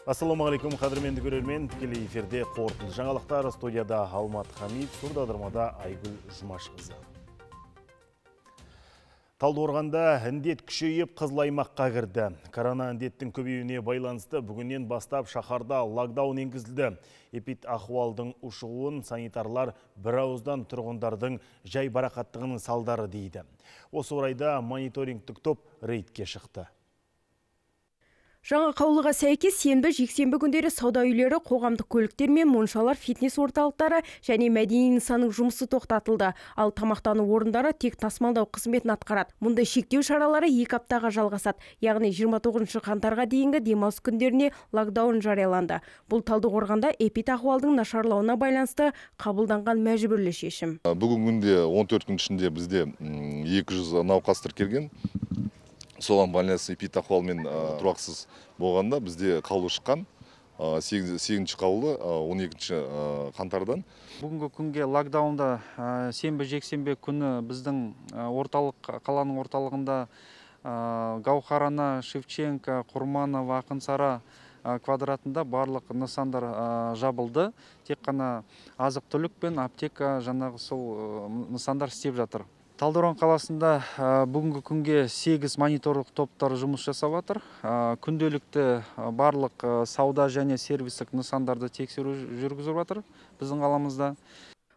Ассалаумағалейкум, қадірменді көрермен. Тікелей эфирде қорытынды жаңалықтар. Студияда Алмат Хамид, сурдадырмада Айгүл Жұмашқызы. Талдықорғанда індет күшейіп қызыл аймаққа кірді. Корона індеттің көбеюіне байланысты бүгіннен бастап шаһарда локдаун енгізілді. Эпидахуалдың ушығуын санитарлар бір ауыздан тұрғындардың жай барақаттығының салдары дейді. Осы орайда мониторингтік топ рейдке шықты. Жаңа қаулыға сәйкес сенбі, жексенбі күндері сауда үйлері, қоғамдық көліктер мен моншалар, фитнес орталықтары және мәдени нысанның жұмысы тоқтатылды. Ал тамақтану орындары тек тасымалдау қызметін атқарады. Мұндай шектеу шаралары 2 аптаға жалғасады. Яғни 29 қаңтарға дейінгі демалыс күндеріне локдаун жарияланды. Бұл Талдықорғанда эпидахуалдың нашарлауына байланысты қабылданған мәжбүрлі шешім. Бүгінгі күнде 14 күн ішінде бізде 200 науқас тіркелген. Соған байланысты эпидахуалмен тұрақсыз болғанда бізде қаулы шыққан. 8-ші қаулы 12-ші қаңтардан. Бүгінгі күнге локдаунда сенбі жексенбі күні біздің қаланың орталығында Гаухарана, Шевченко, Құрманова, Ақынсара квадратында барлық нысандар жабылды. Тек қана азық-түлік пен аптека жаңағы сол нысандар істеп жатыр. Талдықорған қаласында бүгінгі күнге 8 мониторлық топтар жұмыс жасап жатыр. Күнделікті барлық сауда және сервистік нысандарды тексеру жүргізіп жатыр біздің қаламызда.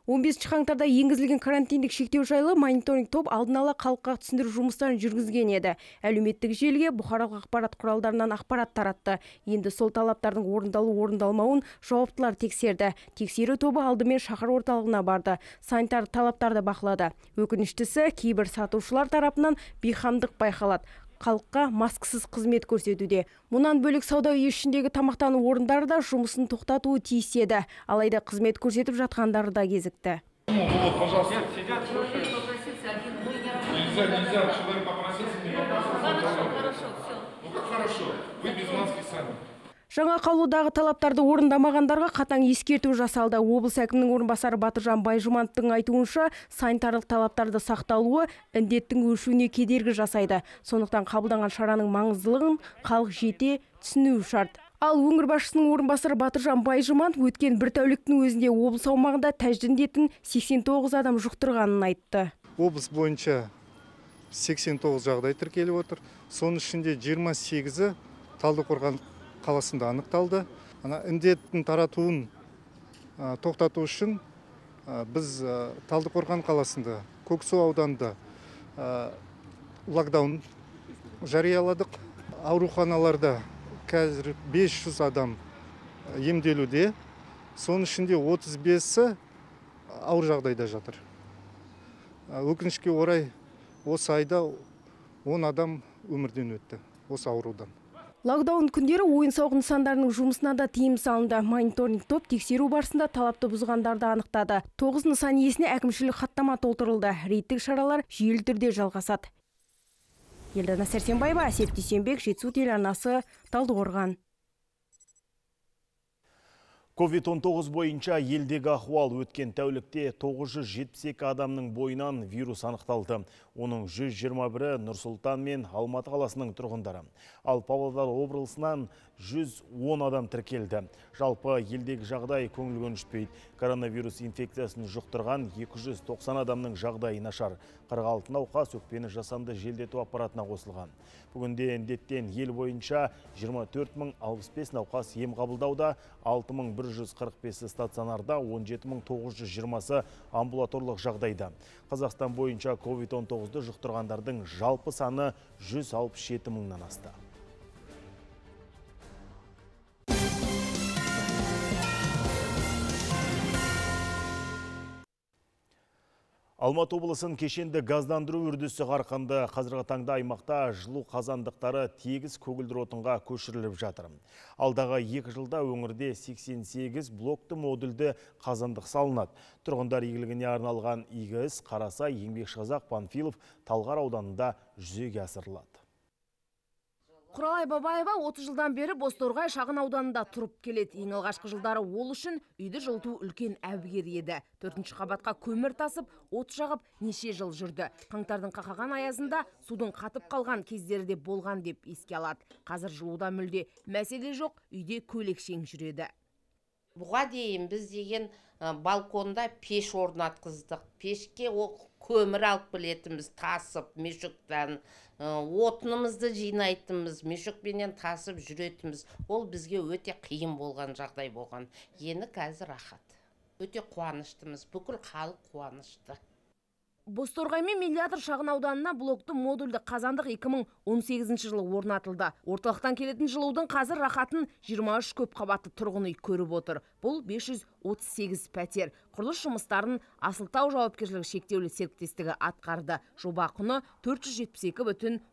15 қаңтарда енгізілген карантиндік шектеу жайлы мониторинг топ алдын ала халыққа түсіндіру жұмыстарын жүргізген еді. Әлеуметтік желіге бұқаралық ақпарат құралдарынан ақпарат таратты. Енді сол талаптардың орындалмауын жауаптылар тексерді. Тексеру тобы алдымен шаһар орталығына барды. Санитар талаптарды бақылады. Өкініштісі, кейбір сатушылар тарапынан бейқамдық байқалады. Халыққа маскасыз қызмет көрсетуде. Мұнан бөлек сауда үй ішіндегі тамақтану орындары да жұмысын тоқтатуы тиіс еді. Алайда қызмет көрсетіп жатқандары да кезікті. Жаңа қаулыдағы талаптарды орындамағандарға қатаң ескерту жасалды. Облыс әкімінің орынбасары Батыржан Байжұмановтың айтуынша, санитарлық талаптарды сақталуы індеттің өршуіне кедергі жасайды. Сондықтан қабылданған шараның маңыздылығын халық жете түсінуі шарт. Ал өңір басшысының орынбасары Батыржан Байжұманов өткен бір тәуліктің өзінде облыс аумағында тәжді індетін 89 адам жұқтырғанын айтты. Облыс бойынша 89 жағдай тіркеліп отыр. Соның ішінде 28-і Талдықорған қаласында анықталды. Індеттің таратуын тоқтату үшін біз Талдықорған қаласында, Көксу ауданында локдаун жарияладық. Ауруханаларда қазір 500 адам емделуде. Соның ішінде 35-і ауыр жағдайда жатыр. Өкінішке орай осы айда 10 адам өмірден өтті осы аурудан. Локдаун күндері ойын-сауық нысандарының жұмысына да тыйым салынды. Мониторинг топ тексеру барысында талапты бұзғандарды анықтады. 9 нысан иесіне әкімшілік хаттама толтырылды. Рейдтік шаралар жүйелі түрде жалғасады. Елдана Сәрсенбаева, Әсет Дүйсенбек, Жетісу телеарнасы, Талдықорған. COVID-19 бойынша елдегі ахуал өткен тәулікте 972 адамның бойынан вирус анықталды. Оның 121-і Нұр-Сұлтан мен Алматы қаласының тұрғындары. Ал Павлодар облысынан 110 адам тіркелді. Жалпы елдегі жағдай көңіл көншітпейді. Коронавирус инфекциясын жұқтырған 290 адамның жағдайы нашар. 46 науқас өкпені жасанды желдету аппаратына қосылған. Бүгінде індеттен ел бойынша 24.065 науқас ем қабылдауда, 6145 стационарда, 17920 амбулаторлық жағдайда. Қазақстан бойынша COVID-19-ды жұқтырғандардың жалпы саны 167 мыңнан асты. Алматы облысын кешенді газдандыру үрдісі қарқынды. Қазіргі таңда аймақта жылу қазандықтары тегіс көгілдір отынға көшіріліп жатыр. Алдағы 2 жылда өңірде 88 блокты модульді қазандық салынады. Тұрғындар игілігіне арналған игі іс Қарасай, Еңбекшіқазақ, Панфилов, Талғар ауданында жүзеге асырылады. Құралай Бабаева 30 жылдан бері Бозторғай шағын ауданында тұрып келеді. Ең алғашқы жылдары ол үшін үйді жылыту үлкен әбігер еді. 4-ші қабатқа көмір тасып, от жағып неше жыл жүрді. Қаңтардың қақаған аязында судың қатып қалған кездері де болған деп еске алады. Қазір жылуда мүлде мәселе жоқ, үйде көйлекшең жүреді. Бұға дейін біз деген балконда пеш орнатқыздық. Пешке көмір алып білетіміз, тасып, мешуктан, отынымызды жинайтымыз, мешукпенен тасып жүретіміз. Ол бізге өте қиын болған жағдай болған. Ені қазір рахат. Өте қуаныштымыз, бүкіл халық қуанышты. Бозторғай мен Миллиатор шағын ауданына блокты модульді қазандық 2018 жылы орнатылды. Орталықтан келетін жылудың қазір рахатын 23 көп қабатты тұрғын үй көріп отыр. Бұл 538 пәтер. Құрылыс жұмыстарын Асылтау жауапкершілігі шектеулі серіктестігі атқарды. Жоба құны 472,1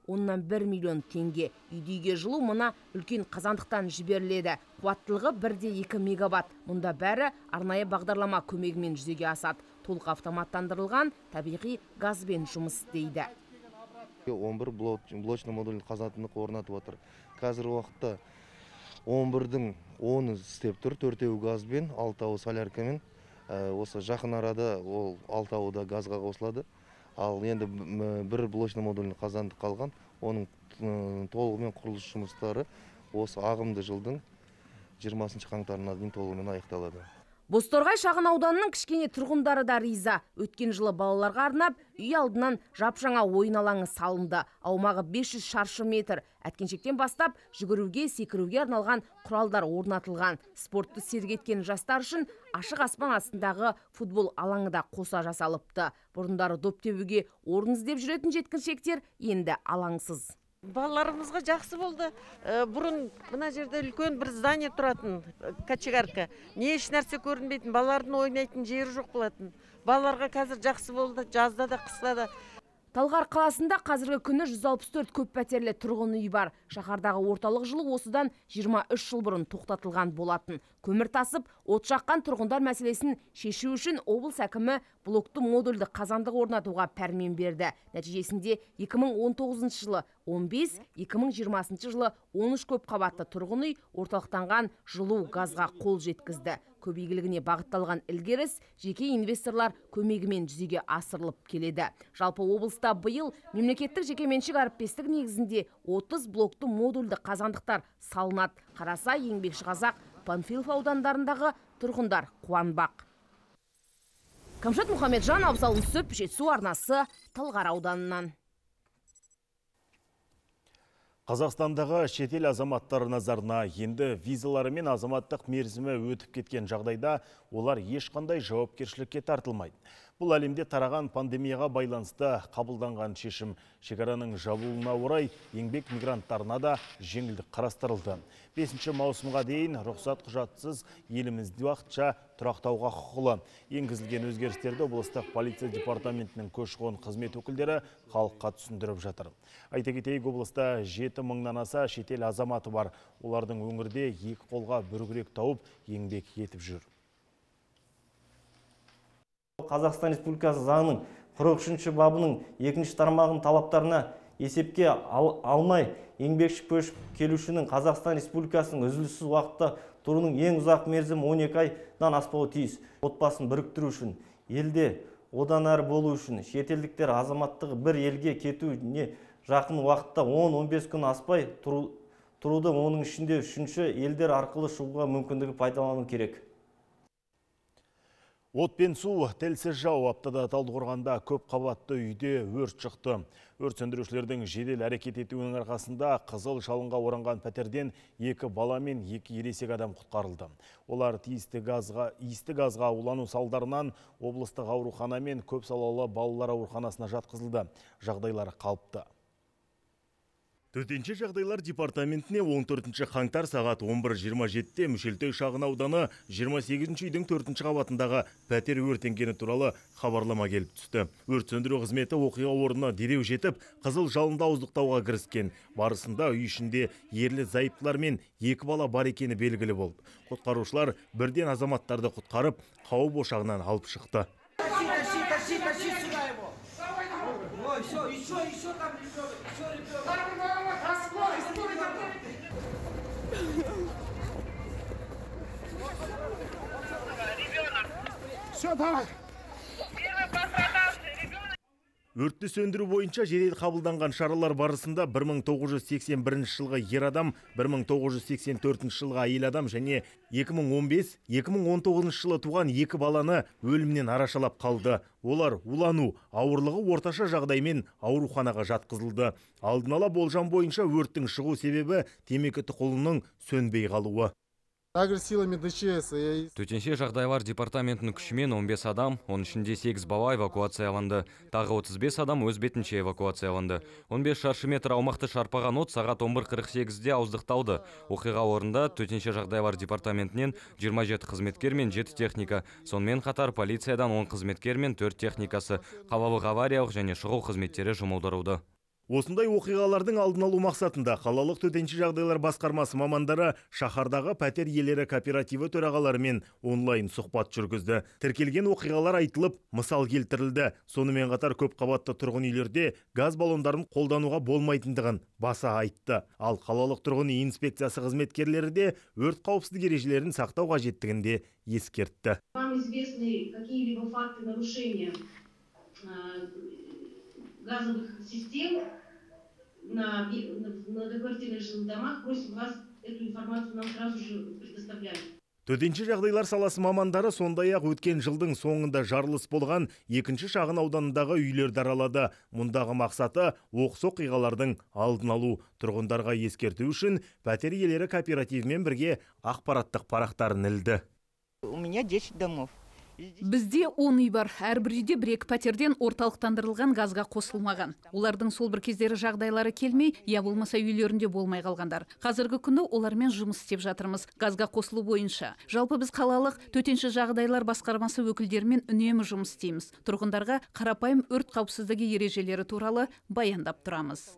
миллион теңге. Үйге жылу мына үлкен қазандықтан жіберіледі. Қуаттылығы 1,2 мегаватт. Мұнда бәрі арнайы бағдарлама көмегімен жүзеге асады. Толық автоматтандырылған табиғи газбен жұмыс істейді. 11 блочный модульный қазандық орнатып отыр. Қазіргі уақытта 11-дің 10-ы істеп тұр, 4-еуі газбен, 6-ауы соляркамен. Осы жақын арада ол 6-ауы да газға қосылады. Ал енді бір блочный модульный қазандық қалған, оның толығымен құрылыс жұмыстары осы ағымды жылдың 20 қаңтарына дейін толығымен аяқталады. Бозторғай шағын ауданының кішкене тұрғындары да риза. Өткен жылы балаларға арнап, үй алдынан жапжаңа ойын алаңы салынды. Аумағы 500 шаршы метр. Әткеншектен бастап жүгіруге, секіруге арналған құралдар орнатылған. Спортты сергеткен жастар үшін ашық аспан астындағы футбол алаңы да қоса жасалыпты. Бұрындары доп тебуге орын іздеп жүретін жеткіншектер енді алаңсыз. Балаларымызға жақсы болды. Бұрын мына жерде үлкен бір здание тұратын, качегарка. Не еш нәрсе көрінбейтін, балалардың ойнайтын жері жоқ болатын. Балаларға қазір жақсы болды, жазда да, қыста да. Талғар қаласында қазіргі күні 164 көп пәтерлі тұрғын үй бар. Шаһардағы орталық жылу осыдан 23 жыл бұрын тоқтатылған болатын. Көмір тасып, от жаққан тұрғындар мәселесін шешу үшін облыс әкімі блокты модульді қазандық орнатуға пәрмен берді. Нәтижесінде 2019 жылы 15, 2020 жылы 13 көп қабатты тұрғын үй орталықтанған жылу газға қол жеткізді. Көп игілігіне бағытталған ілгеріс жеке инвесторлар көмегімен жүзеге асырылып келеді. Жалпы облыста биыл мемлекеттік жекеменшік әріптестік негізінде 30 блокты модульді қазандықтар салынады. Қарасай, Еңбекшіқазақ, Панфилов аудандарындағы тұрғындар қуанбақ. Камшат Мұхамеджан, Абзал Нүсіп, Жетісу арнасы, Талғар ауданынан. Қазақстандағы шетел азаматтары назарына енді визалары мен азаматтық мерзімі өтіп кеткен жағдайда олар ешқандай жауапкершілікке тартылмайды. Бұл әлемде тараған пандемияға байланысты қабылданған шешім. Шекараның жабылуына орай еңбек мигранттарына да жеңілдік қарастырылды. 5 маусымға дейін рұқсат құжатсыз елімізде уақытша тұрақтауға құқылы. Енгізілген өзгерістерді облыстық полиция департаментінің көші-қон қызмет өкілдері халыққа түсіндіріп жатыр. Айта кетейік, облыста 7 мыңнан аса шетел азаматы бар. Олардың өңірде екі қолға бір күрек тауып еңбек етіп жүр. Қазақстан Республикасы заңының 43-ші бабының 2-ші тармағының талаптарына есепке алмай еңбекші көшіп келушінің Қазақстан Республикасының үзіліссіз уақытта тұруының ең ұзақ мерзімі 12 айдан аспауы тиіс. Отбасын біріктіру үшін, елде одан әрі болу үшін шетелдіктер азаматтығы бір елге кетуіне жақын уақытта 10-15 күн аспай тұруды, оның ішінде үшінші елдер арқылы шығуға мүмкіндігі пайдалану керек. От пен су тілсіз жау. Аптада Талдықорғанда көп қабатты үйде өрт шықты. Өрт сөндірушілердің жедел әрекет етуінің арқасында қызыл жалынға оранған пәтерден 2 бала мен 2 ересек адам құтқарылды. Олар иісті газға улану салдарынан облыстық аурухана мен көпсалалы балалар ауруханасына жатқызылды. Жағдайлары қалыпты. Төтенше жағдайлар департаментіне 14 қаңтар сағат 11:27-те Мүшелтөй шағын ауданы 28 үйдің 4-ші қабатындағы пәтер өртенгені туралы хабарлама келіп түсті. Өрт сөндіру қызметі оқиға орнына дереу жетіп, қызыл жалынды ауыздықтауға кіріскен. Барысында үй ішінде ерлі зайыптылар мен 2 бала бар екені белгілі болды. Құтқарушылар бірден азаматтарды құтқарып, қауіп ошағынан алып шықты. Өртті сөндіру бойынша жедел қабылданған шаралар барысында 1981 жылғы ер адам, 1984 жылғы әйел адам және 2015-2019 жылы туған 2 баланы өлімнен арашалап қалды. Олар улану, ауырлығы орташа жағдаймен ауруханаға жатқызылды. Алдын ала болжам бойынша өрттің шығу себебі темекі тұқылының сөнбей қалуы. Төтенше жағдайлар департаментінің күшімен 15 адам, оның ішінде 8 бала эвакуацияланды. Тағы 35 адам өз бетінше эвакуацияланды. 15 шаршы метр аумақты шарпаған от сағат 11:48-де ауыздықталды. Оқиға орнында төтенше жағдайлар департаментінен 27 қызметкер мен 7 техника, сонымен қатар полициядан 10 қызметкер мен 4 техникасы, қалалық авариялық және шұғыл қызметтері жұмылдырылды. Осындай оқиғалардың алдын алу мақсатында қалалық төтенше жағдайлар басқармасы мамандары шаһардағы пәтер иелері кооперативі төрағаларымен онлайн сұхбат жүргізді. Тіркелген оқиғалар айтылып, мысал келтірілді. Сонымен қатар көп қабатты тұрғын үйлерде газ баллондарын қолдануға болмайтындығын баса айтты. Ал қалалық тұрғын үй инспекциясы қызметкерлері де өрт қауіпсіздік ережелерін сақтау қажеттігін де ескертті. Вам известны какие-либо факты нарушения газовых систем на многоквартирных жилых домах, просим вас эту информацию нам сразу же предоставлять. Төтенше жағдайлар саласы мамандары сондай-ақ өткен жылдың соңында жарылыс болған екінші шағын ауданындағы үйлерді аралады. Мұндағы мақсаты оқыс оқиғалардың алдын алу. Тұрғындарға ескерту үшін пәтер иелері кооперативімен бірге ақпараттық парақтарын ілді. У меня 10 домов. Бізде 10 үй бар. Әрбір үйде 1-2 пәтерден орталықтандырылған газға қосылмаған. Олардың сол бір кездері жағдайлары келмей, я болмаса үйлерінде болмай қалғандар. Қазіргі күні олармен жұмыс істеп жатырмыз, газға қосылу бойынша. Жалпы біз қалалық төтенше жағдайлар басқармасы өкілдерімен үнемі жұмыс істейміз. Тұрғындарға қарапайым өрт қауіпсіздігі ережелері туралы баяндап тұрамыз.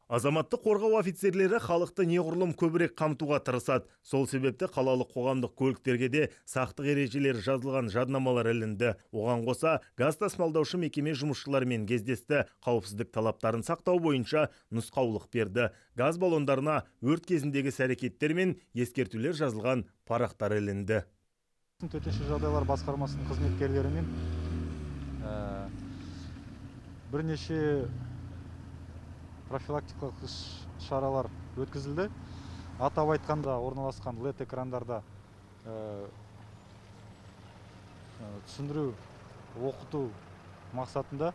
Азаматтық қорғау офицерлері халықты неғұрлым көбірек қамтуға тырысады. Сол себепті қалалық қоғамдық көліктерге де сақтық ережелері жазылған жаднамалар ілінді. Оған қоса газ тасымалдаушы мекеме жұмысшыларымен кездесті. Қауіпсіздік талаптарын сақтау бойынша нұсқаулық берді. Газ баллондарына өрт кезіндегі іс-әрекеттер мен ескертулер жазылған парақтар ілінді. Төтенше жағдайлар басқармасының қызметкерлерімен бірнеше профилактикалық шаралар өткізілді. Атап айтқанда орналасқан LED экрандарда түсіндіру, оқыту мақсатында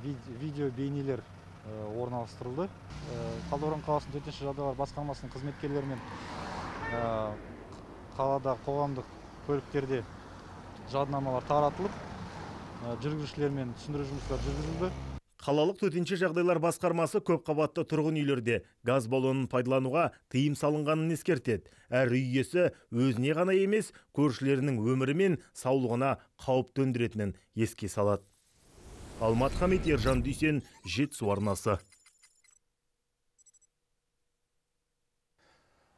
видео бейнелер орналастырылды. Талдықорған қаласының төтенше жағдайлар басқармасының қызметкерлерімен қалада қоғамдық көліктерде жаднамалар таратылып, жүргізушілермен түсіндіру жұмыстары жүргізілді. Қалалық төтенше жағдайлар басқармасы көп қабатты тұрғын үйлерде газ баллонын пайдалануға тыйым салынғанын ескертеді. Әр үй иесі өзіне ғана емес, көршілерінің өмірі мен саулығына қауіп төндіретінін еске салады. Алмат Хамит, Ержан Дүйсен, Жетісу арнасы.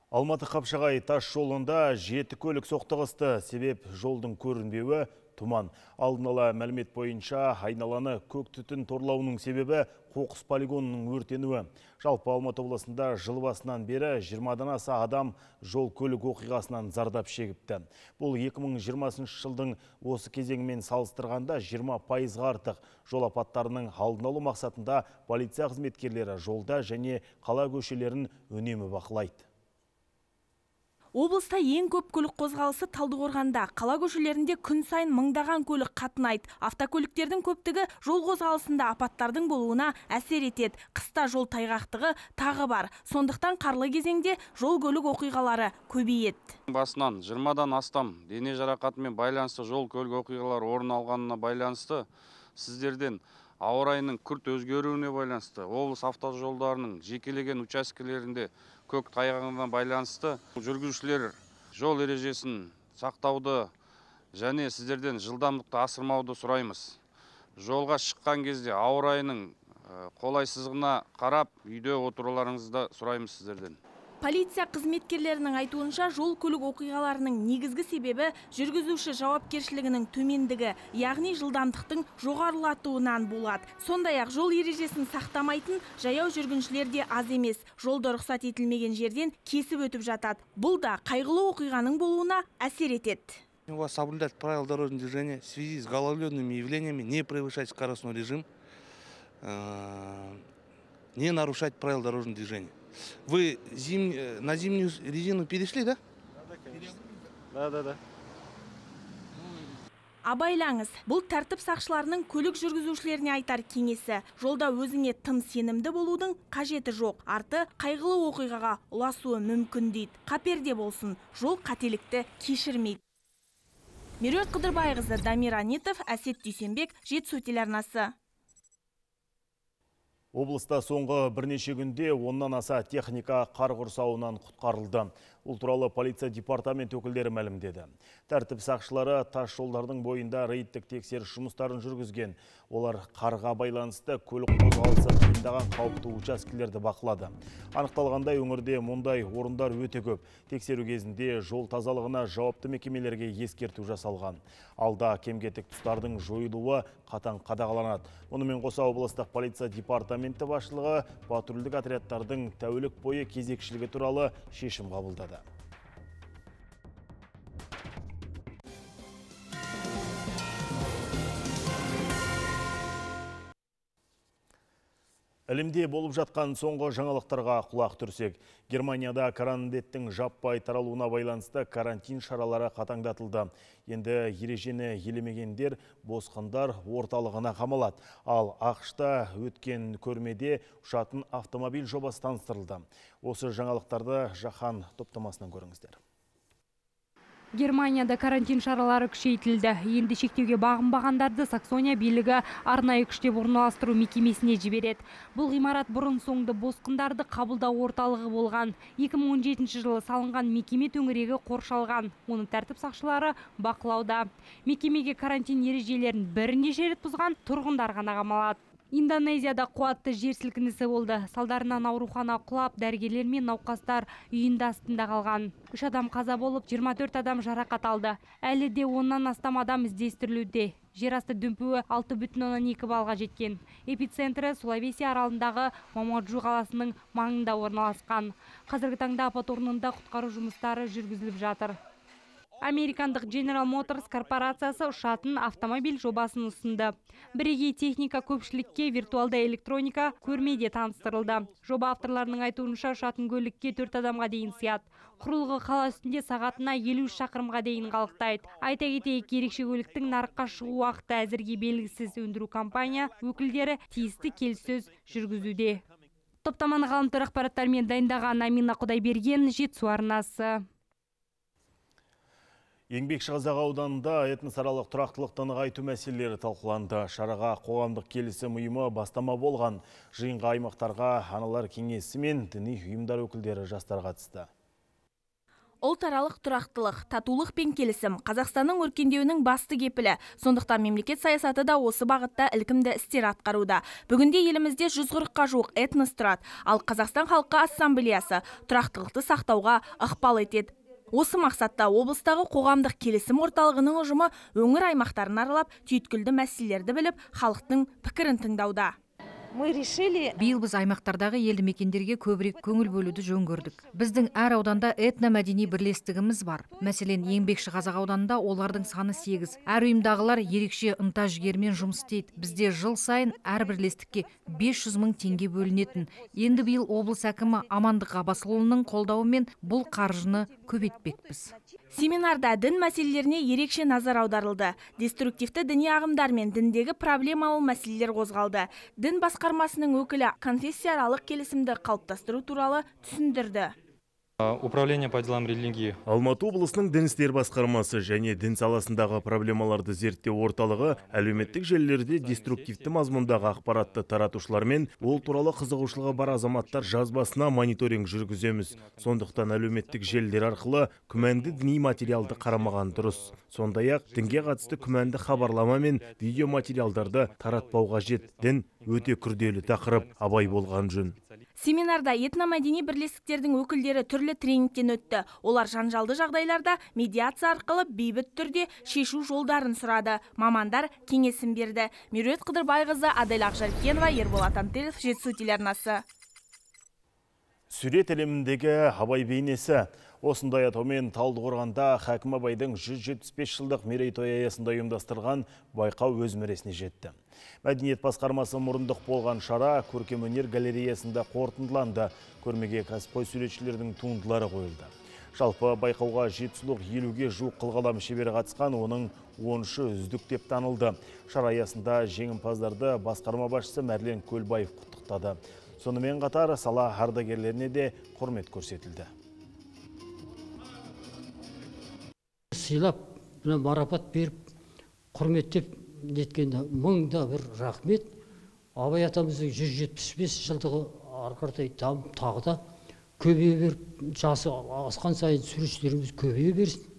Алматы-Қапшағай тас жолында 7 көлік соқтығысты. Себеп жолдың көрінбеуі тұман. Алдын ала мәлімет бойынша айналаны көк түтін торлауының себебі қоқыс полигонының өртенуі. Жалпы Алматы облысында жыл басынан бері 20-дан аса адам жол көлік оқиғасынан зардап шегіпті. Бұл 2020 жылдың осы кезеңімен салыстырғанда 20% артық. Жол апаттарының алдын алу мақсатында полиция қызметкерлері жолда және қала көшелерін үнемі бақылайды. Облыста ең көп көлік қозғалысы Талдықорғанда. Қала көшелерінде күн сайын мыңдаған көлік қатынайды. Автокөліктердің көптігі жол қозғалысында апаттардың болуына әсер етеді. Қыста жол тайғақтығы тағы бар. Сондықтан қарлы кезеңде жол көлік оқиғалары көбейеді. Басынан 20-дан астам дене жарақатымен байланысты жол көлік оқиғалары орын алғанына байланысты сіздерден ауа райының күрт өзгеруіне байланысты облыс автожолдарының жекелеген учаскелерінде көк тайғағына байланысты жүргізушілер жол ережесін сақтауды және сіздерден жылдамдықты асырмауды сұраймыз. Жолға шыққан кезде ауа райының қолайсыздығына қарап үйде отыруларыңызды сұраймыз сіздерден. Полиция қызметкерлерінің айтуынша жол көлік оқиғаларының негізгі себебі жүргізуші жауапкершілігінің төмендігі, яғни жылдамдықтың жоғарылатуынан болады. Сондай-ақ жол ережесін сақтамайтын жаяу жүргіншілер де аз емес. Жолда рұқсат етілмеген жерден кесіп өтіп жатады. Бұл да қайғылы оқиғаның болуына әсер етеді. У вас соблюдать правила дорожного движения в связи с гололедными явлениями, не превышать скоростной режим, не нарушать правила дорожного движения. Вы на зимнюю резину перешли, да? Да. Абайлаңыз, бұл тәртіп сақшыларының көлік жүргізушілеріне айтар кеңесі. Жолда өзіңе тым сенімді болудың қажеті жоқ. Арты қайғылы оқиғаға ұласуы мүмкін дейді. Қаперде болсын, жол қателікті кешірмейді. Меруерт Қыдырбайқызы, Дамир Анитов, Әсет Дүйсенбек, Жетісу телеарнасы. Облыста соңғы бірнеше күнде 10-нан аса техника қар құрсауынан құтқарылды. Бұл туралы полиция департамент өкілдері мәлімдеді. Тәртіп сақшылары тас жолдардың бойында рейдтік тексеріс жұмыстарын жүргізген. Олар қарға байланысты көлік қозғалысы қиындаған қауіпті учаскелерді бақылады. Анықталғандай, өңірде мұндай орындар өте көп. Тексеру кезінде жол тазалығына жауапты мекемелерге ескерту жасалған. Алда кем-кетік тұстардың жойылуы қатаң қадағаланады. Онымен қоса облыстық полиция департаменті басшылығы патрульдік отрядтардың тәулік бойы кезекшілігі туралы шешім қабылдады. Әлемде болып жатқан соңғы жаңалықтарға құлақ түрсек, Германияда коронавирустың жаппай таралуына байланысты карантин шаралары қатаңдатылды. Енді ережені елемегендер босқындар орталығына қамалады. Ал ақш-та өткен көрмеде ұшатын автомобиль жобасы таныстырылды. Осы жаңалықтарды жаһан топтамасынан көріңіздер. Германияда карантин шаралары күшейтілді. Енді шектеуге бағынбағандарды Саксония билігі арнайы күштеп орналастыру мекемесіне жібереді. Бұл ғимарат бұрын соңды босқындарды қабылдау орталығы болған. 2017 жылы салынған мекеме төңірегі қоршалған. Оны тәртіп сақшылары бақылауда. Мекемеге карантин ережелерін бірнеше рет бұзған тұрғындар ғана қамалады. Индонезияда қуатты жер сілкінісі болды. Салдарынан аурухана құлап, дәрігерлер мен науқастар үйінде астында қалған. 3 адам қаза болып, 24 адам жарақат алды. Әлі де 10-нан астам адам іздестірілуде. Жер асты дүмпуі 6,2 балға жеткен. Эпицентрі Сулавеси аралындағы Мамаджу қаласының маңында орналасқан. Қазіргі таңда апат орнында құтқару жұмыстары жүргізіліп жатыр. Американдық General Motors корпорациясы ұшатын автомобиль жобасын ұсынды. Бірегей техника көпшілікке виртуалды электроника көрмеде таныстырылды. Жоба авторларының айтуынша ұшатын көлікке 4 адамға дейін сияды. Құрылғы қала үстінде сағатына 50 шақырымға дейін қалықтайды. Айта кетейік, ерекше көліктің нарыққа шығу уақыты әзірге белгісіз. Өндіру компания өкілдері тиісті келіссөз жүргізуде. Топтаманы ғаламтор ақпараттармен дайындаған Амина Құдайберген, Жетісу арнасы. Еңбекші Қазақ ауданында этносаралық тұрақтылықты нығайту мәселелері талқыланды. Шараға қоғамдық келісім ұйымы бастама болған. Жиынға аймақтарға аналар кеңесі мен діни ұйымдар өкілдері жастар қатысты. Ұлтаралық тұрақтылық, татулық пен келісім Қазақстанның өркендеуінің басты кепілі. Сондықтан мемлекет саясаты да осы бағытта ілкімді істер атқаруда. Бүгінде елімізде 140-қа жуық этнос тұрады, ал Қазақстан халқы ассамблеясы тұрақтылықты сақтауға ықпал етеді. Осы мақсатта облыстағы қоғамдық келісім орталығының ұжымы өңір аймақтарын аралап, түйткілді мәселелерді біліп, халықтың пікірін тыңдауда. Биыл біз аймақтардағы елді мекендерге көбірек көңіл бөлуді жөн көрдік. Біздің әр ауданда этномәдени бірлестігіміз бар. Мәселен, Еңбекші Қазақ ауданында олардың саны 8. Әр ұйымдағылар ерекше ынта жігермен жұмыс істейді. Бізде жыл сайын әр бірлестікке 500 мың теңге бөлінетін. Енді биыл облыс әкімі Амандық Ғабасұлының қолдауымен бұл қаржыны көбейтпекпіз. Семинарда дін мәселелеріне ерекше назар аударылды. Деструктивті діни ағымдар мен діндегі проблемалы мәселелер қозғалды. Дін басқармасының өкілі конфессияаралық келісімді қалыптастыру туралы түсіндірді. Управление по делам религии. Алматы облысының дін істер басқармасы және дін саласындағы проблемаларды зерттеу орталығы әлеуметтік желілерде деструктивті мазмұндағы ақпаратты таратушылармен ол туралы қызығушылығы бар азаматтар жазбасына мониторинг жүргіземіз. Сондықтан әлеуметтік желілер арқылы күмәнді діни материалды қарамаған дұрыс. Сондай-ақ дінге қатысты күмәнді хабарлама мен видео материалдарды таратпауға қажет. Дін өте күрделі тақырып, абай болған жөн. Семинарда этномәдени бірлестіктердің өкілдері түрлі тренингтен өтті. Олар жанжалды жағдайларда медиация арқылы бейбіт түрде шешу жолдарын сұрады. Мамандар кеңесін берді. Меруерт Қыдырбайқызы, Адель Ақжаркенова, Ерболат Антелов, Жетісу телеарнасы. Сүрет әлеміндегі Абай бейнесі. Осындай атаумен Талдықорғанда Хакім Абайдың 175 жылдық мерейтойы аясында ұйымдастырған байқау өз мәресіне жетті. Мәдениет басқармасы мұрындық болған шара көркемөнер галереясында қорытындыланды. Көрмеге кәсіпқой суретшілердің туындылары қойылды. Жалпы байқауға жетісулық 50-ге жуық қылғалам шебері қатысқан, оның 13-і үздік деп танылды. Шара аясында жеңімпаздарды басқарма басшысы Мәрлен Көлбаев құттықтады. Сонымен қатар сала ардагерлеріне де құрмет көрсетілді. Сыйлап, марапат беріп, құрметтеп неткенде мыңда бір рахмет. Абай атамыздың 175 жылдығы арқардай дамып, тағы да көбейе беріп, жасы асқан сайын суретшілеріміз көбейе берсін.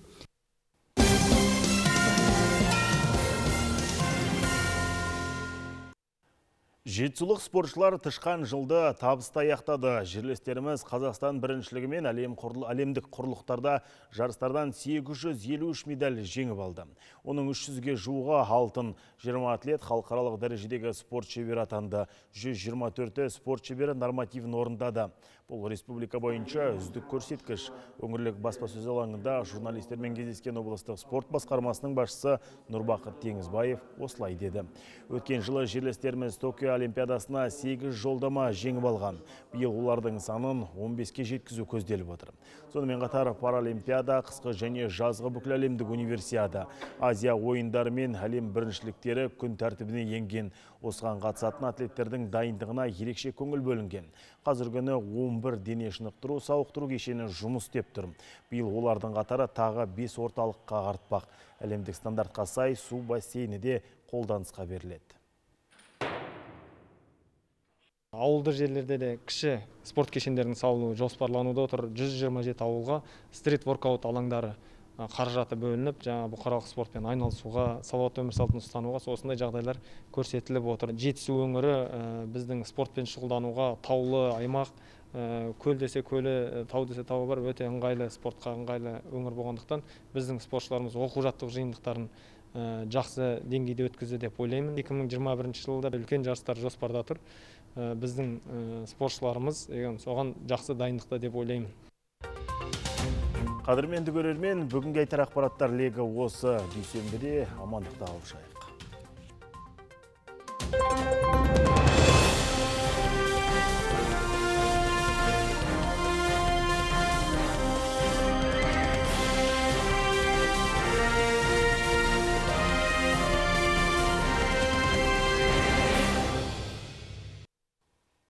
Жетісулық спортшылар тышқан жылды табысты аяқтады. Жерлестеріміз Қазақстан біріншілігі мен әлемдік құрлықтарда жарыстардан 853 медаль жеңіп алды. Оның 300-ге жуығы алтын. 20 атлет халықаралық дәрежедегі спорт шебері атанды. 124 спорт шебері нормативін орындады. Бұл республика бойынша үздік көрсеткіш. Өңірлік баспасөз алаңында журналистермен кездескен облыстық спорт басқармасының басшысы Нұрбақыт Теңізбаев осылай деді. Өткен жылы жерлестеріміз Токио олимпиадасына 8 жолдама жеңіп алған. Биыл олардың санын 15-ке жеткізу көзделіп отыр. Сонымен қатар паралимпиада, қысқы және жазғы бүкіл әлемдік универсиада, Азия ойындары мен әлем біріншіліктері күн тәртібіне енген. Осыған қатысатын атлеттердің дайындығына ерекше көңіл бөлінген. Қазіргі күні 11 дене шынықтыру сауықтыру кешені жұмыс істеп тұр. Биыл олардың қатары тағы 5 орталыққа артпақ. Әлемдік стандартқа сай су бассейні де қолданысқа беріледі. Ауылды жерлерде де кіші спорт кешендерінің салынуы жоспарлануда отыр. 127 ауылға стрит-воркаут алаңдары қаражаты бөлініп, жаңа бұқаралық спортпен айналысуға, салауатты өмір салтын ұстануға осындай жағдайлар көрсетіліп отыр. Жетісу өңірі біздің спортпен шұғылдануға таулы аймақ, көл десе көлі, тау десе тауы бар, өте ыңғайлы, спортқа ыңғайлы өңір болғандықтан біздің спортшыларымыз оқу-жаттығу жиындықтарын жақсы деңгейде өткізді деп ойлаймын. 2021 жылда үлкен жарыстар жоспарда тұр. Біздің спортшыларымыз соған жақсы дайындықта деп ойлаймын. Қадірменді көрермен, бүгінгі айтар ақпараттар легі осы. Дүйсенбіде амандықта алып шайық.